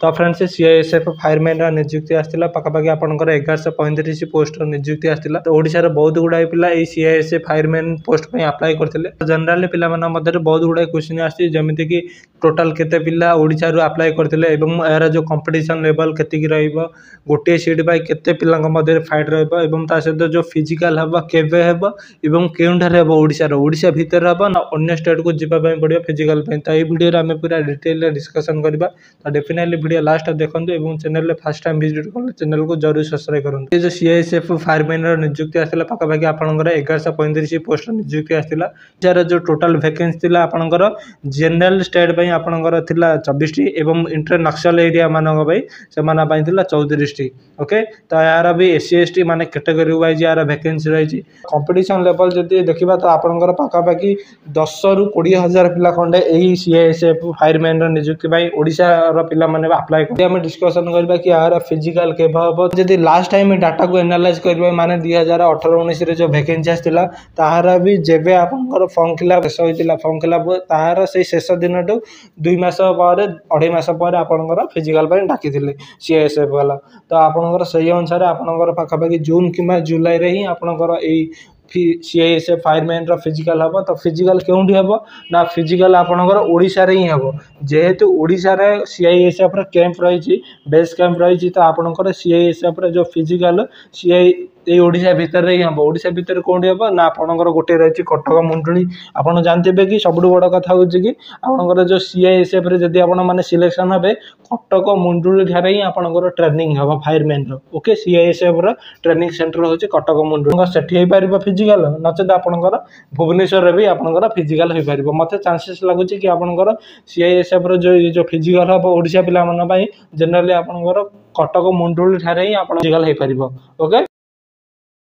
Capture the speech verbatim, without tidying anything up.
ତ friends, CISF ଫାୟାରମ୍ୟାନ୍ର ନିଯୁକ୍ତି ଆସିଥିଲା। ପାଖାପାଖି ଆପଣଙ୍କର ଏଗାରଶହ ପଇଁତିରିଶ ପୋଷ୍ଟର ନିଯୁକ୍ତି ଆସିଥିଲା। ତ ଓଡ଼ିଶାର ବହୁତ ଗୁଡ଼ାଏ ପିଲା ଏଇ ସିଆଇଏସ୍ଏଫ୍ ଫାୟାରମ୍ୟାନ୍ ପୋଷ୍ଟ ପାଇଁ ଆପ୍ଲାଏ କରିଥିଲେ। ଜେନେରାଲି ପିଲାମାନଙ୍କ ମଧ୍ୟରେ ବହୁତ ଗୁଡ଼ାଏ କ୍ୱେଶ୍ଚିନ୍ ଆସିଛି, ଯେମିତିକି ଟୋଟାଲ୍ କେତେ ପିଲା ଓଡ଼ିଶାରୁ ଆପ୍ଲାଏ କରିଥିଲେ ଏବଂ ଏହାର ଯେଉଁ କମ୍ପିଟିସନ୍ ଲେଭେଲ୍ କେତିକି ରହିବ, ଗୋଟିଏ ସିଟ୍ ପାଇଁ କେତେ ପିଲାଙ୍କ ମଧ୍ୟରେ ଫାଇଟ୍ ରହିବ ଏବଂ ତା ସହିତ ଯେଉଁ ଫିଜିକାଲ୍ ହେବ, କେବେ ହେବ ଏବଂ କେଉଁଠାରେ ହେବ, ଓଡ଼ିଶାର ଓଡ଼ିଶା ଭିତରେ ହେବ ନା ଅନ୍ୟ ଷ୍ଟେଟ୍କୁ ଯିବା ପାଇଁ ପଡ଼ିବ ଫିଜିକାଲ୍ ପାଇଁ। ତ ଏଇ ଭିଡ଼ିଓରେ ଆମେ ପୁରା ଡିଟେଲରେ ଡିସ୍କସନ୍ କରିବା। ତ ଡେଫିନେଟଲି ଭିଡ଼ିଓ ଲାଷ୍ଟ ଦେଖନ୍ତୁ ଏବଂ ଚ୍ୟାନେଲରେ ଫାର୍ଷ୍ଟ ଟାଇମ୍ ଭିଜିଟ୍ କଲେ ଚ୍ୟାନେଲକୁ ଜରୁର ସବସ୍କ୍ରାଇବ୍ କରନ୍ତୁ। ଏ ଯେଉଁ ସିଆଇଏସ୍ଏଫ୍ ଫାୟାରମ୍ୟାନ୍ର ନିଯୁକ୍ତି ଆସିଥିଲା, ପାଖାପାଖି ଆପଣଙ୍କର ଏଗାରଶହ ପଇଁତିରିଶ ପୋଷ୍ଟ ନିଯୁକ୍ତି ଆସିଥିଲା, ଯାହାର ଯେଉଁ ଟୋଟାଲ୍ ଭ୍ୟାକେନ୍ସି ଥିଲା, ଆପଣଙ୍କର ଜେନେରାଲ ଷ୍ଟେଟ୍ ପାଇଁ ଆପଣଙ୍କର ଥିଲା ଚବିଶଟି ଏବଂ ଇଣ୍ଟର ନକ୍ସଲ ଏରିଆ ମାନଙ୍କ ପାଇଁ, ସେମାନଙ୍କ ପାଇଁ ଥିଲା ଚଉତିରିଶଟି। ଓକେ, ତ ଏହାର B S C, S T ମାନେ କ୍ୟାଟେଗୋରୀ ୱାଇଜ୍ ଏହାର ଭ୍ୟାକେନ୍ସି ରହିଛି। କମ୍ପିଟିସନ୍ ଲେଭେଲ୍ ଯଦି ଦେଖିବା, ତ ଆପଣଙ୍କର ପାଖାପାଖି ଦଶରୁ କୋଡ଼ିଏ ହଜାର ପିଲା ଖଣ୍ଡେ ଏଇ ସିଆଇଏସ୍ଏଫ୍ ଫାୟାରମ୍ୟାନ୍ର ନିଯୁକ୍ତି ପାଇଁ ଓଡ଼ିଶାର ପିଲାମାନେ ଆପ୍ଲାଏ କରି। ଆମେ ଡିସ୍କସନ୍ କରିବା କି ଏହାର ଫିଜିକାଲ୍ କେବେ ହେବ। ଯଦି ଲାଷ୍ଟ ଟାଇମ୍ ଡାଟାକୁ ଏନାଲାଇଜ୍ କରିବା, ମାନେ ଦୁଇ ହଜାର ଅଠର ଉଣେଇଶରେ ଯେଉଁ ଭ୍ୟାକେନ୍ସି ଆସିଥିଲା, ତାହାର ବି ଯେବେ ଆପଣଙ୍କର ଫର୍ମ ଫିଲ୍ଅପ୍ ଶେଷ ହୋଇଥିଲା, ଫର୍ମ ଫିଲ୍ଅପ୍ ତାହାର ସେଇ ଶେଷ ଦିନଠୁ ଦୁଇ ମାସ ପରେ, ଅଢ଼େଇ ମାସ ପରେ ଆପଣଙ୍କର ଫିଜିକାଲ୍ ପାଇଁ ଡାକିଥିଲେ ସିଆଇଏସ୍ଏଫ୍ ବାଲା। ତ ଆପଣଙ୍କର ସେଇ ଅନୁସାରେ ଆପଣଙ୍କର ପାଖାପାଖି ଜୁନ୍ କିମ୍ବା ଜୁଲାଇରେ ହିଁ ଆପଣଙ୍କର ଏଇ ସିଆଇଏସ୍ଏଫ୍ ଫାୟାରମ୍ୟାନ୍ର ଫିଜିକାଲ୍ ହେବ। ତ ଫିଜିକାଲ୍ କେଉଁଠି ହେବ ନା ଫିଜିକାଲ୍ ଆପଣଙ୍କର ଓଡ଼ିଶାରେ ହିଁ ହେବ। ଯେହେତୁ ଓଡ଼ିଶାରେ ସିଆଇଏସ୍ଏଫ୍ର କ୍ୟାମ୍ପ ରହିଛି, ବେସ୍ କ୍ୟାମ୍ପ ରହିଛି, ତ ଆପଣଙ୍କର ସିଆଇଏସ୍ଏଫ୍ର ଯେଉଁ ଫିଜିକାଲ୍ ସିଆଇ ଏଇ ଓଡ଼ିଶା ଭିତରେ ହିଁ ହେବ। ଓଡ଼ିଶା ଭିତରେ କେଉଁଠି ହେବ ନା ଆପଣଙ୍କର ଗୋଟିଏ ରହିଛି କଟକ ମୁଣ୍ଡୁଳି। ଆପଣ ଜାଣିଥିବେ କି ସବୁଠୁ ବଡ଼ କଥା ହେଉଛି କି ଆପଣଙ୍କର ଯେଉଁ ସିଆଇଏସ୍ଏଫ୍ରେ ଯଦି ଆପଣ ମାନେ ସିଲେକ୍ସନ୍ ହେବେ, କଟକ ମୁଣ୍ଡୁଳି ଠାରେ ହିଁ ଆପଣଙ୍କର ଟ୍ରେନିଂ ହେବ ଫାୟାରମ୍ୟାନ୍ର। ଓକେ, ସିଆଇଏସ୍ଏଫ୍ର ଟ୍ରେନିଂ ସେଣ୍ଟର ହେଉଛି କଟକ ମୁଣ୍ଡୁଳି। ସେଠି ହେଇପାରିବ ଫିଜିକାଲ୍, ନଚେତ ଆପଣଙ୍କର ଭୁବନେଶ୍ୱରରେ ବି ଆପଣଙ୍କର ଫିଜିକାଲ୍ ହୋଇପାରିବ। ମୋତେ ଚାନ୍ସେସ୍ ଲାଗୁଛି କି ଆପଣଙ୍କର ସିଆଇଏସ୍ଏଫ୍ର ଯେଉଁ ଯେଉଁ ଫିଜିକାଲ୍ ହେବ ଓଡ଼ିଶା ପିଲାମାନଙ୍କ ପାଇଁ, ଜେନେରାଲି ଆପଣଙ୍କର କଟକ ମୁଣ୍ଡୁଳି ଠାରେ ହିଁ ଆପଣ ଫିଜିକାଲ୍ ହେଇପାରିବ। ଓକେ।